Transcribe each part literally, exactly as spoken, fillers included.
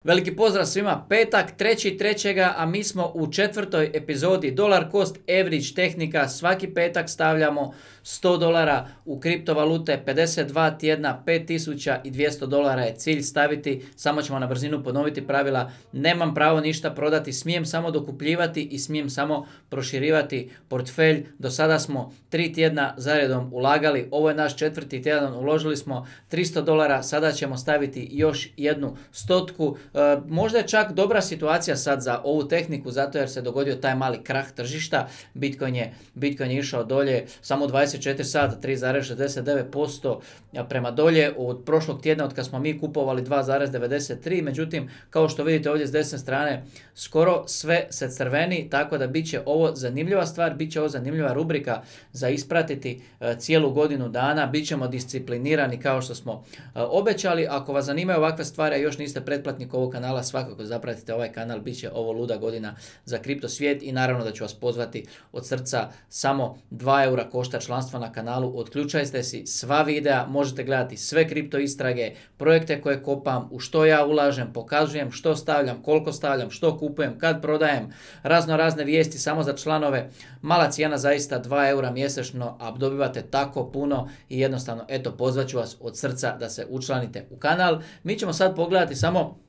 Veliki pozdrav svima, petak, treći trećega a mi smo u četvrtoj epizodi Dollar Cost Average tehnika. Svaki petak stavljamo sto dolara u kriptovalute, pedeset dva tjedna, pet tisuća dvjesto dolara je cilj staviti. Samo ćemo na brzinu ponoviti pravila. Nemam pravo ništa prodati, smijem samo dokupljivati i smijem samo proširivati portfelj. Do sada smo tri tjedna zaredom ulagali, ovo je naš četvrti tjedan, uložili smo tristo dolara, sada ćemo staviti još jednu stotku. E, možda je čak dobra situacija sad za ovu tehniku, zato jer se dogodio taj mali krah tržišta. Bitcoin je, Bitcoin je išao dolje samo dvadeset četiri sata, tri zarez šezdeset devet posto prema dolje od prošlog tjedna od kad smo mi kupovali dva zarez devedeset tri. Međutim, kao što vidite ovdje s desne strane, skoro sve se crveni, tako da bit će ovo zanimljiva stvar, bit će ovo zanimljiva rubrika za ispratiti e, cijelu godinu dana. Bit ćemo disciplinirani kao što smo e, obećali. Ako vas zanimaju ovakve stvari, a još niste pretplatnik ovog kanala, svakako zapratite ovaj kanal, bit će ovo luda godina za kripto svijet i naravno da ću vas pozvati od srca. Samo dva eura košta članstvo na kanalu, otključajte si sva videa, možete gledati sve kripto istrage, projekte koje kopam, u što ja ulažem, pokazujem što stavljam, koliko stavljam, što kupujem, kad prodajem, razno razne vijesti samo za članove. Mala cijena zaista dva eura mjesečno, a dobivate tako puno i jednostavno eto pozvat ću vas od srca da se učlanite u kanal. Mi ćemo sad pogledati samo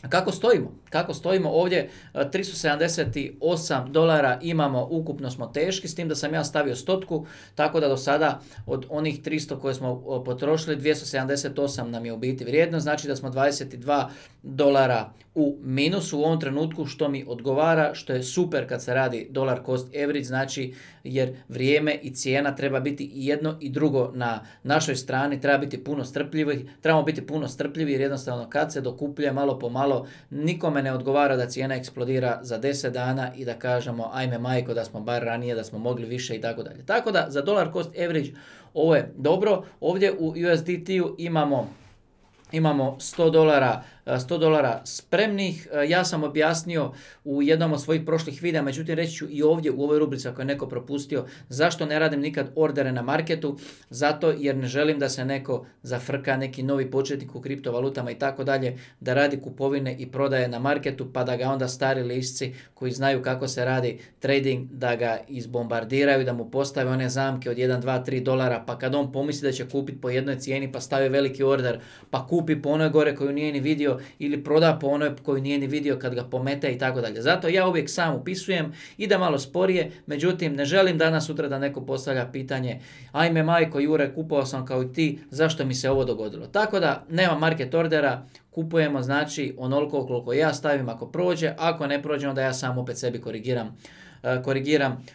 kako stojimo, kako stojimo ovdje, tristo sedamdeset osam dolara imamo, ukupno smo teški, s tim da sam ja stavio stotku, tako da do sada od onih tristo koje smo potrošili, dvjesto sedamdeset osam nam je u biti vrijedno, znači da smo dvadeset dva dolara u minusu u ovom trenutku, što mi odgovara, što je super kad se radi dollar cost average, znači jer vrijeme i cijena treba biti i jedno i drugo na našoj strani, treba biti puno strpljivi, trebamo biti puno strpljivi jer jednostavno kad se dokupljuje malo po malo, nikome ne odgovara da cijena eksplodira za deset dana i da kažemo ajme majko da smo bar ranije, da smo mogli više i tako dalje. Tako da za dollar cost average ovo je dobro. Ovdje u U S D T-u imamo Imamo sto dolara, sto dolara spremnih. Ja sam objasnio u jednom od svojih prošlih videa, međutim reći ću i ovdje u ovoj rubrici ako je neko propustio zašto ne radim nikad ordere na marketu. Zato jer ne želim da se neko zafrka, neki novi početnik u kriptovalutama i tako dalje, da radi kupovine i prodaje na marketu pa da ga onda stari lisci koji znaju kako se radi trading da ga izbombardiraju, da mu postave one zamke od jedan, dva, tri dolara, pa kad on pomisli da će kupiti po jednoj cijeni pa stavi veliki order pa kupi kupi po onoj gore koju nije ni vidio ili proda po onoj koju nije ni vidio kad ga pomete i tako dalje. Zato ja uvijek sam upisujem, ide malo sporije, međutim ne želim danas sutra da neko postavlja pitanje ajme majko Jure, kupovao sam kao i ti, zašto mi se ovo dogodilo. Tako da nema market ordera, kupujemo znači onoliko koliko ja stavim ako prođe, ako ne prođe onda ja sam opet sebi korigiram korigiram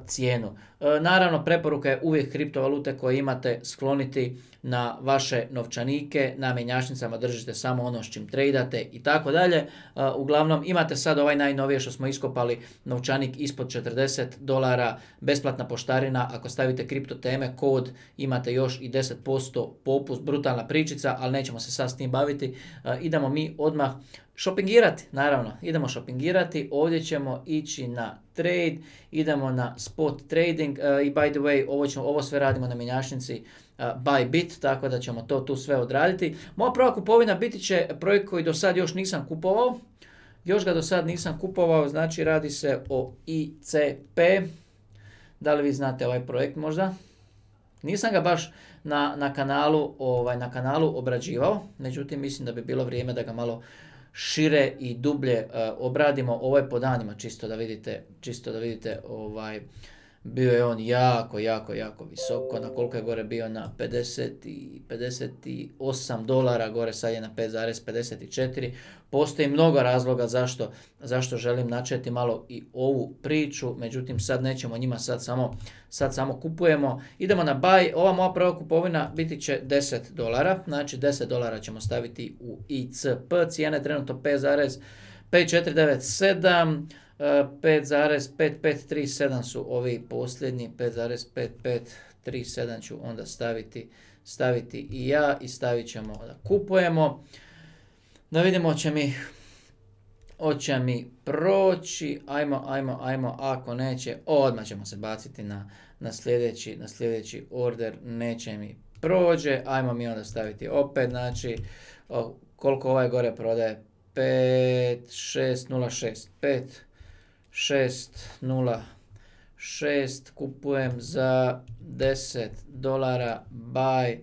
cijenu. Naravno, preporuka je uvijek kriptovalute koje imate skloniti na vaše novčanike, na mjenjačnicama držite samo ono s čim tradate i tako dalje. Uglavnom, imate sad ovaj najnovije što smo iskopali, novčanik ispod četrdeset dolara, besplatna poštarina, ako stavite kripto teme, kod, imate još i deset posto popust, brutalna pričica, ali nećemo se sad s tim baviti. Idemo mi odmah šopingirati, naravno, idemo šopingirati, ovdje ćemo ići na trade, idemo na spot trading uh, i by the way, ovo, ćemo, ovo sve radimo na mjenjačnici uh, Bybit, tako da ćemo to tu sve odraditi. Moja prva kupovina biti će projekt koji do sad još nisam kupovao, još ga do sad nisam kupovao, znači radi se o I C P, da li vi znate ovaj projekt možda? Nisam ga baš na, na, kanalu, ovaj, na kanalu obrađivao, međutim mislim da bi bilo vrijeme da ga malo šire i dublje uh, obradimo. Ovo je po danima čisto da vidite, čisto da vidite ovaj, bio je on jako, jako, jako visoko, na koliko je gore bio, na pedeset, pedeset osam dolara, gore sad je na pet zarez pedeset četiri. Postoji mnogo razloga zašto, zašto želim načeti malo i ovu priču, međutim sad nećemo njima, sad samo, sad samo kupujemo. Idemo na buy, ova moja prva kupovina biti će deset dolara, znači deset dolara ćemo staviti u I C P, cijene trenutno pet zarez pet četiri devet sedam, pet zarez pet pet tri sedam su ovi posljednji, pet zarez pet pet tri sedam ću onda staviti, staviti i ja i stavit ćemo da kupujemo. Da vidimo hoće mi, hoće mi proći, ajmo, ajmo, ajmo, ako neće, odmah ćemo se baciti na, na, sljedeći, na sljedeći order, neće mi prođe, ajmo mi onda staviti opet, znači koliko ovaj gore prodaje, pet šest nula šest. pet šest nula šest. Kupujem za deset dolara. Buy.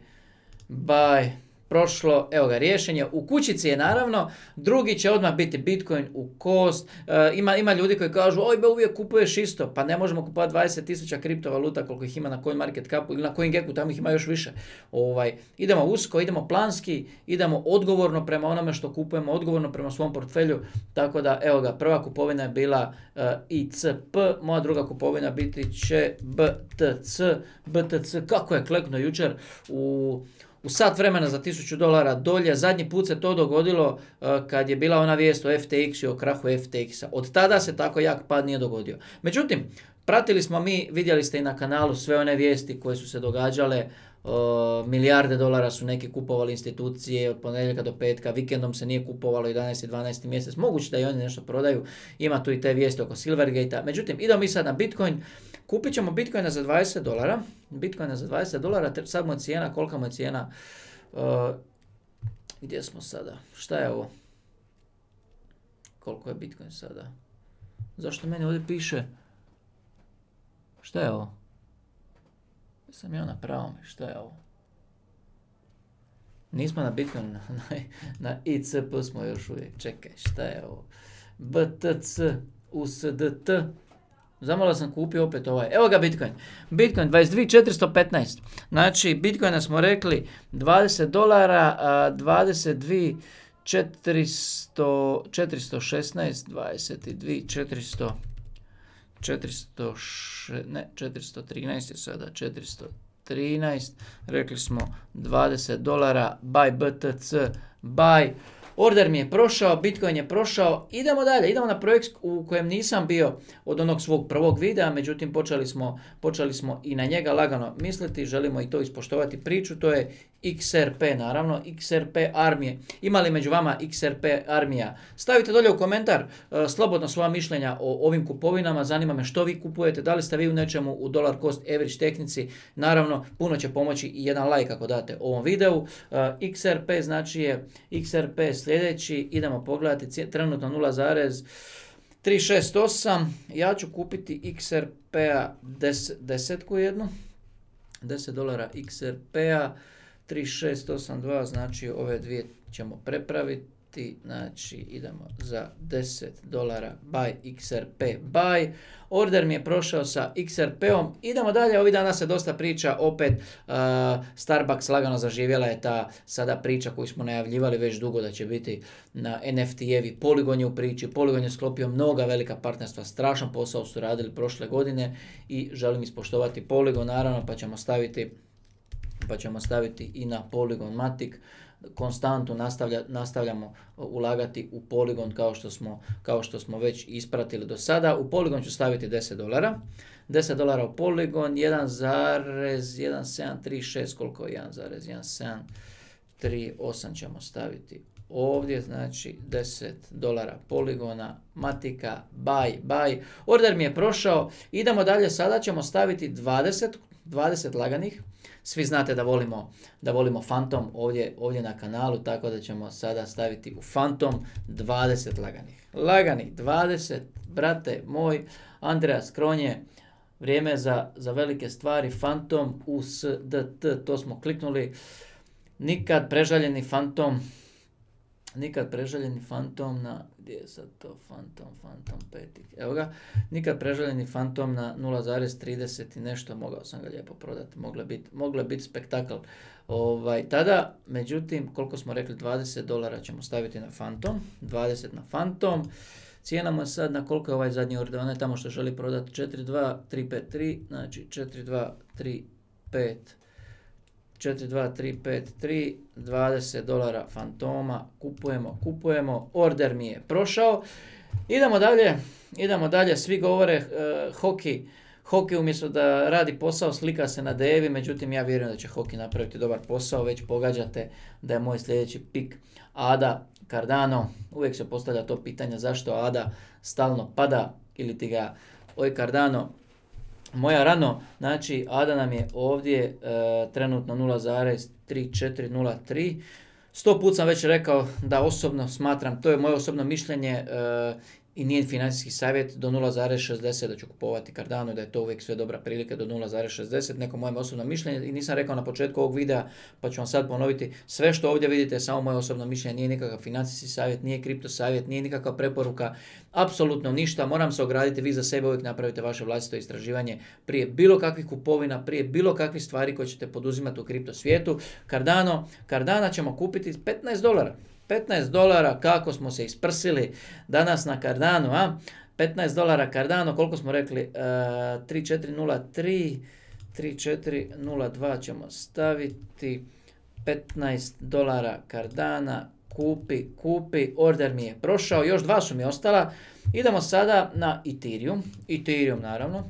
Buy. Prošlo, evo ga, riješenje. U kućici je naravno, drugi će odmah biti Bitcoin u cost. E, ima, ima ljudi koji kažu, oj be, uvijek kupuješ isto, pa ne možemo kupovati dvadeset tisuća kriptovaluta koliko ih ima na CoinMarketCapu ili na CoinGecku, tamo ih ima još više. Ovaj, idemo usko, idemo planski, idemo odgovorno prema onome što kupujemo, odgovorno prema svom portfelju, tako da, evo ga, prva kupovina je bila uh, I C P, moja druga kupovina biti će B T C. B T C, kako je kleknuo jučer u... U sat vremena za tisuću dolara dolje. Zadnji put se to dogodilo uh, kad je bila ona vijest o F T X i o krahu F T X-a. Od tada se tako jak pad nije dogodio. Međutim, pratili smo mi, vidjeli ste i na kanalu sve one vijesti koje su se događale. Uh, milijarde dolara su neki kupovali institucije od ponedjeljka do petka, vikendom se nije kupovalo jedanaesti dvanaesti mjesec. Moguće da i oni nešto prodaju. Ima tu i te vijesti oko Silvergate-a. Međutim, idemo mi sad na Bitcoin. Kupit ćemo Bitcoina za dvadeset dolara. Bitcoina za dvadeset dolara, sad mu je cijena, kolika mu je cijena? Uh, gdje smo sada? Šta je ovo? Koliko je Bitcoin sada? Zašto meni ovdje piše? Šta je ovo? Sam ja na pravom, šta je ovo? Nismo na Bitcoin, na, na I C P smo još uvijek. Čekaj, šta je ovo? B T C, U S D T. Zamalo sam kupio opet ovaj. Evo ga Bitcoin. Bitcoin dvadeset dvije tisuće četiristo petnaest. Znači, Bitcoina smo rekli dvadeset dolara, a dvadeset dvije tisuće četiristo šesnaest, dvadeset dvije tisuće četiristo, četiristo, ne, četiristo trinaest je sada, četiristo trinaest. Rekli smo dvadeset dolara, buy B T C, buy. Order mi je prošao, Bitcoin je prošao, idemo dalje, idemo na projekt u kojem nisam bio od onog svog prvog videa, međutim počeli smo, počeli smo i na njega lagano misliti, želimo i to ispoštovati priču, to je X R P naravno, X R P armije. Ima li među vama X R P armija? Stavite dolje u komentar uh, slobodno svoja mišljenja o ovim kupovinama, zanima me što vi kupujete, da li ste vi u nečemu u dollar cost average tehnici, naravno puno će pomoći i jedan like ako date ovom videu. Uh, X R P znači je X R P sljedeći, idemo pogledati trenutno nula zarez tri šest osam, ja ću kupiti X R P-a desetku jednu, deset dolara X R P-a, tri šest osam dva, znači ove dvije ćemo prepraviti, znači idemo za deset dolara buy X R P buy. Order mi je prošao sa X R P-om, idemo dalje, ovih dana se dosta priča, opet uh, Starbucks lagano zaživjela je ta sada priča koju smo najavljivali već dugo da će biti na N F T-evi, Polygon je u priči, Polygon je sklopio mnoga velika partnerstva, strašan posao su radili prošle godine i želim ispoštovati Polygon naravno, pa ćemo staviti pa ćemo staviti i na Polygon Matic. Konstantno nastavlja, nastavljamo ulagati u Polygon kao što smo, kao što smo već ispratili do sada. U Polygon ću staviti deset dolara. deset dolara u Polygon, jedan zarez jedan sedam tri šest, koliko je jedan zarez jedan sedam tri osam ćemo staviti ovdje, znači deset dolara Polygona, Matica, buy, buy. Order mi je prošao, idemo dalje, sada ćemo staviti dvadeset, dvadeset laganih. Svi znate da volimo, da volimo Phantom ovdje, ovdje na kanalu, tako da ćemo sada staviti u Phantom dvadeset laganih. Laganih dvadeset, brate moj, Andreas Kronje, vrijeme za, za velike stvari, Phantom U S D T, to smo kliknuli. Nikad prežaljeni Phantom, nikad prežaljeni Phantom na, gdje je sad to Phantom, Phantom pet, evo ga, nikad prežaljeni Phantom na nula zarez trideset i nešto, mogao sam ga lijepo prodati, moglo je biti, moglo je biti spektakl. Ovaj, tada, međutim, koliko smo rekli, dvadeset dolara ćemo staviti na Phantom, dvadeset na Phantom, cijena mu je sad na koliko je ovaj zadnji order, on je tamo što želi prodati četiri dva tri pet tri, znači četiri dva tri pet četiri dva tri pet tri, dvadeset dolara Fantoma, kupujemo, kupujemo, order mi je prošao. Idemo dalje, idemo dalje, svi govore uh, hoki, hoki umjesto da radi posao slika se na devi, međutim ja vjerujem da će hoki napraviti dobar posao, već pogađate da je moj sljedeći pik Ada Cardano, uvijek se postavlja to pitanje zašto Ada stalno pada ili ti ga, oj Cardano, moja rano, znači Ada nam je ovdje e, trenutno nula zarez tri četiri nula tri, Sto put sam već rekao da osobno smatram, to je moje osobno mišljenje e, i nije financijski savjet, do nula zarez šezdeset da ću kupovati Cardano i da je to uvijek sve dobra prilika do nula zarez šezdeset, neko moje osobno mišljenje i nisam rekao na početku ovog videa, pa ću vam sad ponoviti, sve što ovdje vidite je samo moje osobno mišljenje, nije nikakav financijski savjet, nije kripto savjet, nije nikakva preporuka, apsolutno ništa, moram se ograditi, vi za sebe uvijek napravite vaše vlastito istraživanje prije bilo kakvih kupovina, prije bilo kakvih stvari koje ćete poduzimati u kripto svijetu. Cardano, Cardana ćemo kupiti petnaest dolara. petnaest dolara, kako smo se isprsili danas na Cardano, a? petnaest dolara Cardano, koliko smo rekli? Uh, tri četiri nula tri, tri četiri nula dva ćemo staviti, petnaest dolara Cardana, kupi, kupi, order mi je prošao, još dva su mi ostala. Idemo sada na Ethereum, Ethereum naravno.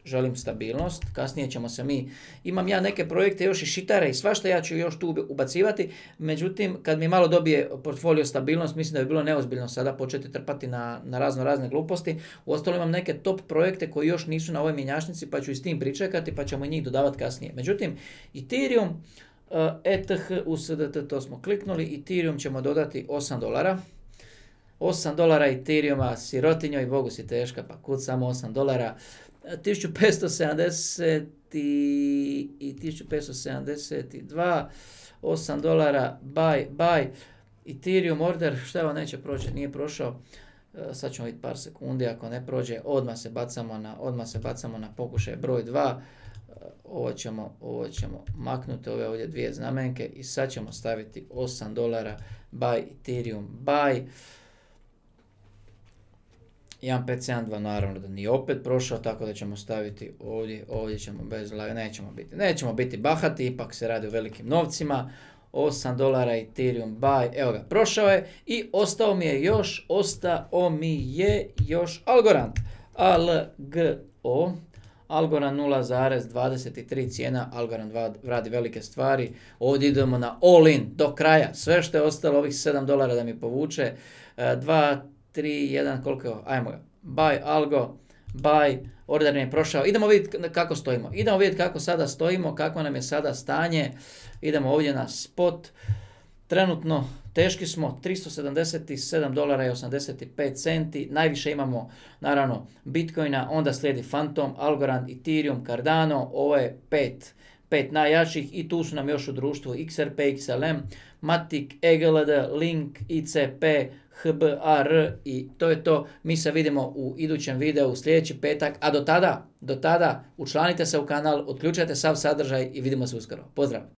Želim stabilnost, kasnije ćemo se mi, imam ja neke projekte još i šitare i svašta ja ću još tu ubacivati, međutim kad mi malo dobije portfolio stabilnost, mislim da bi bilo neozbiljno sada početi trpati na, na razno razne gluposti. Uostalom imam neke top projekte koji još nisu na ovoj mjenjačnici pa ću i s tim pričekati pa ćemo i njih dodavati kasnije. Međutim, Ethereum, uh, E T H U S D T, to smo kliknuli, Ethereum ćemo dodati osam dolara. osam dolara Ethereuma, sirotinjoj, Bogu si teška, pa kud samo osam dolara. tisuću petsto sedamdeset i tisuću petsto sedamdeset dva, osam dolara, buy, buy, Ethereum order, šta vam neće proći, nije prošao, sad ćemo vidjeti par sekundi, ako ne prođe, odmah se bacamo na, odmah se bacamo na pokušaj broj dva, ovo ćemo, ovo ćemo maknuti, ove ovdje dvije znamenke i sad ćemo staviti osam dolara, buy, Ethereum, buy, jedan pet sedam dva naravno da nije opet prošao, tako da ćemo staviti ovdje, ovdje ćemo bez live, nećemo biti, nećemo biti bahati, ipak se radi o velikim novcima, osam dolara Ethereum buy, evo ga, prošao je i ostao mi je još, ostao mi je još Algorand, A L G O, Algorand nula zarez dvadeset tri cijena, Algorand radi velike stvari, ovdje idemo na all in, do kraja, sve što je ostalo, ovih sedam dolara da mi povuče, dva, tri, jedan, koliko je ovo? Ajmo ga. Buy, algo, buy, order mi je prošao. Idemo vidjeti kako stojimo. Idemo vidjeti kako sada stojimo, kako nam je sada stanje. Idemo ovdje na spot. Trenutno teški smo tristo sedamdeset sedam dolara i osamdeset pet centi. Najviše imamo naravno Bitcoina, onda slijedi Phantom, Algorand, Ethereum, Cardano. Ovo je pet. pet najjačih i tu su nam još u društvu X R P, X L M, Matic, E G L D, Link, I C P, H B A R i to je to. Mi se vidimo u idućem videu sljedeći petak, a do tada, do tada učlanite se u kanal, otključajte sav sadržaj i vidimo se uskoro. Pozdrav!